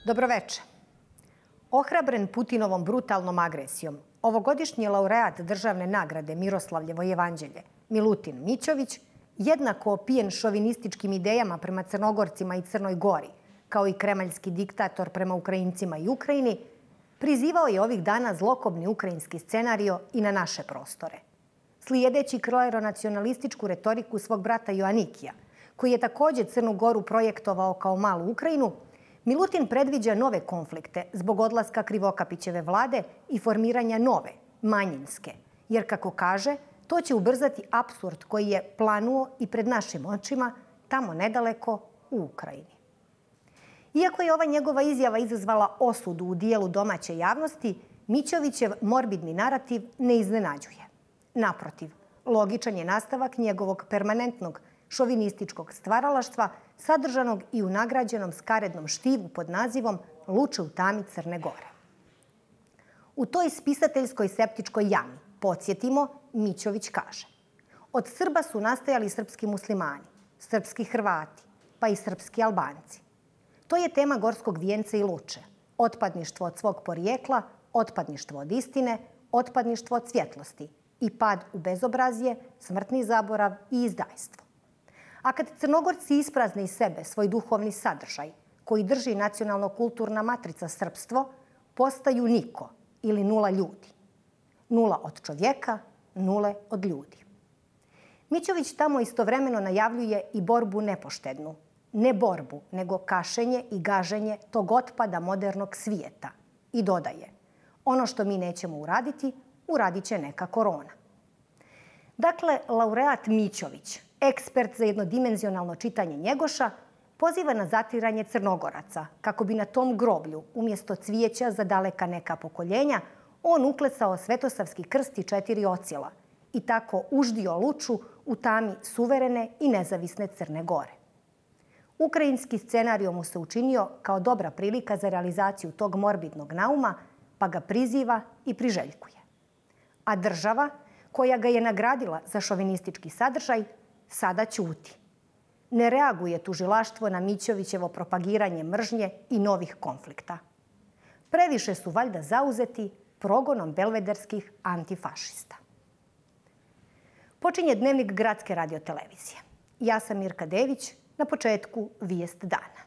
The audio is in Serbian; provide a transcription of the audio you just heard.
Dobroveče. Ohrabren Putinovom brutalnom agresijom, ovogodišnji laureat državne nagrade Miroslavljevo jevanđelje, Milutin Mićović, jednako opijen šovinističkim idejama prema Crnogorcima i Crnoj Gori, kao i kremaljski diktator prema Ukrajincima i Ukrajini, prizivao je ovih dana zlokobni ukrajinski scenario i na naše prostore. Slijedeći kleronacionalističku retoriku svog brata Joanikija, koji je također Crnu Goru projektovao kao malu Ukrajinu, Milutin predviđa nove konflikte zbog odlaska Krivokapićeve vlade i formiranja nove, manjinske, jer, kako kaže, to će ubrzati apsurd koji je planuo i pred našim očima tamo nedaleko u Ukrajini. Iako je ova njegova izjava izazvala osudu u dijelu domaće javnosti, Mićovićev morbidni narativ ne iznenađuje. Naprotiv, logičan je nastavak njegovog permanentnog šovinističkog stvaralaštva sadržanog i u nagrađenom skarednom štivu pod nazivom Luče u tami Crne Gore. U toj spisateljskoj septičkoj jami, podsjetimo, Mićović kaže: od Srba su nastajali srpski muslimani, srpski Hrvati, pa i srpski Albanci. To je tema Gorskog vijenca i Luče. Otpadništvo od svog porijekla, otpadništvo od istine, otpadništvo od svjetlosti i pad u bezobrazje, smrtni zaborav i izdajstvo. A kad Crnogorci isprazne iz sebe svoj duhovni sadržaj, koji drži nacionalno-kulturna matrica srpstvo, postaju niko ili nula ljudi. Nula od čovjeka, nule od ljudi. Mićović tamo istovremeno najavljuje i borbu nepoštednu. Ne borbu, nego kašenje i gaženje tog otpada modernog svijeta. I dodaje: ono što mi nećemo uraditi, uradit će neka korona. Dakle, laureat Mićović, ekspert za jednodimenzionalno čitanje Njegoša, poziva na zatiranje Crnogoraca, kako bi na tom groblju, umjesto cvijeća za daleka neka pokoljenja, on uklesao svetosavski krst i 4 ocjela i tako uždio Luču u tami suverene i nezavisne Crne Gore. Ukrajinski scenario mu se učinio kao dobra prilika za realizaciju tog morbidnog nauma, pa ga priziva i priželjkuje. A država, koja ga je nagradila za šovinistički sadržaj, sada ćuti. Ne reaguje tužilaštvo na Mićovićevo propagiranje mržnje i novih konflikta. Previše su valjda zauzeti progonom belvederskih antifašista. Počinje Dnevnik Gradske radiotelevizije. Ja sam Mirka Dević, na početku vijest dana.